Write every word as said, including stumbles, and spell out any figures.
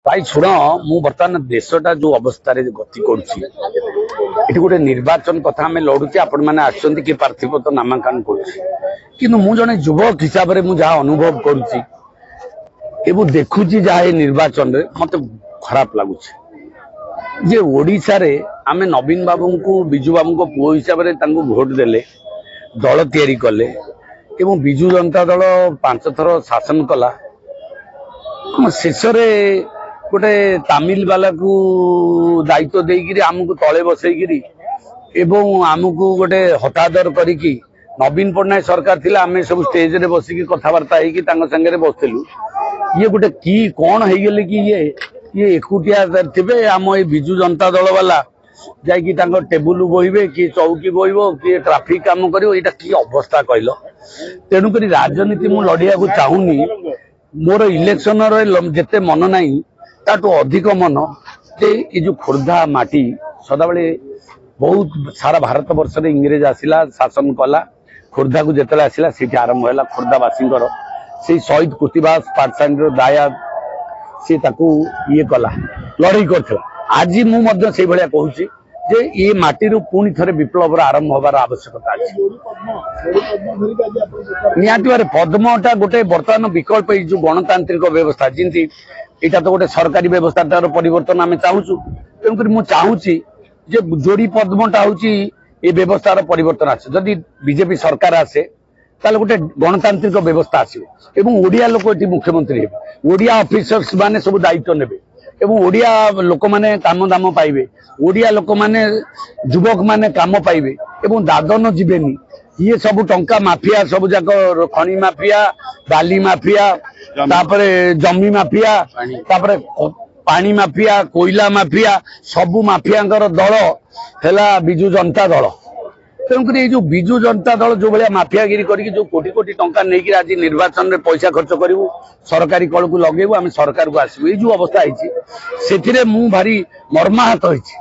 ଭାଇ ଶୁଣ, ମୁଁ ବର୍ତ୍ତମାନ ଦେଶଟା ଯୋଉ ଅବସ୍ଥାରେ ଗତି କରୁଛି, ଏଠି ଗୋଟେ ନିର୍ବାଚନ କଥା ଆମେ ଲଢୁଛେ, ଆପଣମାନେ ଆସୁଛନ୍ତି, କିଏ ପ୍ରାର୍ଥୀପତ୍ର ନାମାଙ୍କନ କରୁଛି। କିନ୍ତୁ ମୁଁ ଜଣେ ଯୁବକ ହିସାବରେ ମୁଁ ଯାହା ଅନୁଭବ କରୁଛି ଏବଂ ଦେଖୁଛି ଯାହା ଏ ନିର୍ବାଚନରେ, ମତେ ଖରାପ ଲାଗୁଛି ଯେ ଓଡ଼ିଶାରେ ଆମେ ନବୀନ ବାବୁଙ୍କୁ ବିଜୁ ବାବୁଙ୍କ ପୁଅ ହିସାବରେ ତାଙ୍କୁ ଭୋଟ ଦେଲେ, ଦଳ ତିଆରି କଲେ ଏବଂ ବିଜୁ ଜନତା ଦଳ ପାଞ୍ଚ ଥର ଶାସନ କଲା। ଶେଷରେ ଗୋଟେ ତାମିଲ ବାଲାକୁ ଦାୟିତ୍ୱ ଦେଇକିରି ଆମକୁ ତଳେ ବସେଇକିରି ଏବଂ ଆମକୁ ଗୋଟେ ହତାଦର କରିକି, ନବୀନ ପଟ୍ଟନାୟକ ସରକାର ଥିଲା, ଆମେ ସବୁ ଷ୍ଟେଜରେ ବସିକି କଥାବାର୍ତ୍ତା ହେଇକି ତାଙ୍କ ସାଙ୍ଗରେ ବସିଥିଲୁ। ଇଏ ଗୋଟେ କି କଣ ହେଇଗଲେ କି ଇଏ ଇଏ ଏକୁଟିଆ ଥିବେ, ଆମ ଏଇ ବିଜୁ ଜନତା ଦଳ ବାଲା ଯାଇକି ତାଙ୍କ ଟେବୁଲ ବୋହିବେ, କିଏ ଚୌକି ବୋହିବ, କିଏ ଟ୍ରାଫିକ କାମ କରିବ। ଏଇଟା କି ଅବସ୍ଥା କହିଲ? ତେଣୁକରି ରାଜନୀତି ମୁଁ ଲଢିବାକୁ ଚାହୁଁନି। ମୋର ଇଲେକ୍ସନର ଯେତେ ମନ ନାହିଁ, ତାଠୁ ଅଧିକ ମନ ଯେ ଏ ଯୋଉ ଖୋର୍ଦ୍ଧା ମାଟି ସଦାବେଳେ ବହୁତ, ସାରା ଭାରତ ବର୍ଷରେ ଇଂରେଜ ଆସିଲା, ଶାସନ କଲା, ଖୋର୍ଦ୍ଧାକୁ ଯେତେବେଳେ ଆସିଲା ସେଇଠି ଆରମ୍ଭ ହେଲା ଖୋର୍ଦ୍ଧାବାସୀଙ୍କର ସେଇ ଶହୀଦ କୃତିବାସ ପାଟଶାଣୀର ଦାୟାଦ, ସିଏ ତାକୁ ଇଏ କଲା, ଲଢେଇ କରିଥିଲା। ଆଜି ମୁଁ ମଧ୍ୟ ସେଇଭଳିଆ କହୁଛି ଯେ ଏ ମାଟିରୁ ପୁଣି ଥରେ ବିପ୍ଳବର ଆରମ୍ଭ ହବାର ଆବଶ୍ୟକତା ଅଛି ନିହାତି ଭାବରେ। ପଦ୍ମଟା ଗୋଟେ ବର୍ତ୍ତମାନ ବିକଳ୍ପ। ଏଇ ଯୋଉ ଗଣତାନ୍ତ୍ରିକ ବ୍ୟବସ୍ଥା, ଯେମିତି ଏଇଟା ତ ଗୋଟେ ସରକାରୀ ବ୍ୟବସ୍ଥାଟାର ପରିବର୍ତ୍ତନ ଆମେ ଚାହୁଁଛୁ। ତେଣୁକରି ମୁଁ ଚାହୁଁଛି ଯେ ଯୋଡି ପଦ୍ମଟା ହଉଛି ଏ ବ୍ୟବସ୍ଥାର ପରିବର୍ତ୍ତନ ଆସେ। ଯଦି ବିଜେପି ସରକାର ଆସେ, ତାହେଲେ ଗୋଟେ ଗଣତାନ୍ତ୍ରିକ ବ୍ୟବସ୍ଥା ଆସିବ ଏବଂ ଓଡ଼ିଆ ଲୋକ ଏଠି ମୁଖ୍ୟମନ୍ତ୍ରୀ ହେବେ, ଓଡ଼ିଆ ଅଫିସର୍ସ ମାନେ ସବୁ ଦାୟିତ୍ୱ ନେବେ ଏବଂ ଓଡ଼ିଆ ଲୋକମାନେ କାମ ଦାମ ପାଇବେ, ଓଡ଼ିଆ ଲୋକମାନେ ଯୁବକମାନେ କାମ ପାଇବେ ଏବଂ ଦାଦନ ଯିବେନି। ଇଏ ସବୁ ଟଙ୍କା ମାଫିଆ, ସବୁ ଯାକ ଖଣି ମାଫିଆ, ବାଲି ମାଫିଆ, ତାପରେ ଜମି ମାଫିଆ, ତାପରେ ପାଣି ମାଫିଆ, କୋଇଲା ମାଫିଆ, ସବୁ ମାଫିଆଙ୍କର ଦଳ ହେଲା ବିଜୁ ଜନତା ଦଳ। ତେଣୁକରି ଏଇ ଯୋଉ ବିଜୁ ଜନତା ଦଳ ଯୋଉ ଭଳିଆ ମାଫିଆଗିରି କରିକି ଯୋଉ କୋଟି କୋଟି ଟଙ୍କା ନେଇକି ଆଜି ନିର୍ବାଚନରେ ପଇସା ଖର୍ଚ୍ଚ କରିବୁ, ସରକାରୀ କଳକୁ ଲଗେଇବୁ, ଆମେ ସରକାରକୁ ଆସିବୁ, ଏଇ ଯୋଉ ଅବସ୍ଥା ହେଇଛି, ସେଥିରେ ମୁଁ ଭାରି ମର୍ମାହତ ହେଇଛି।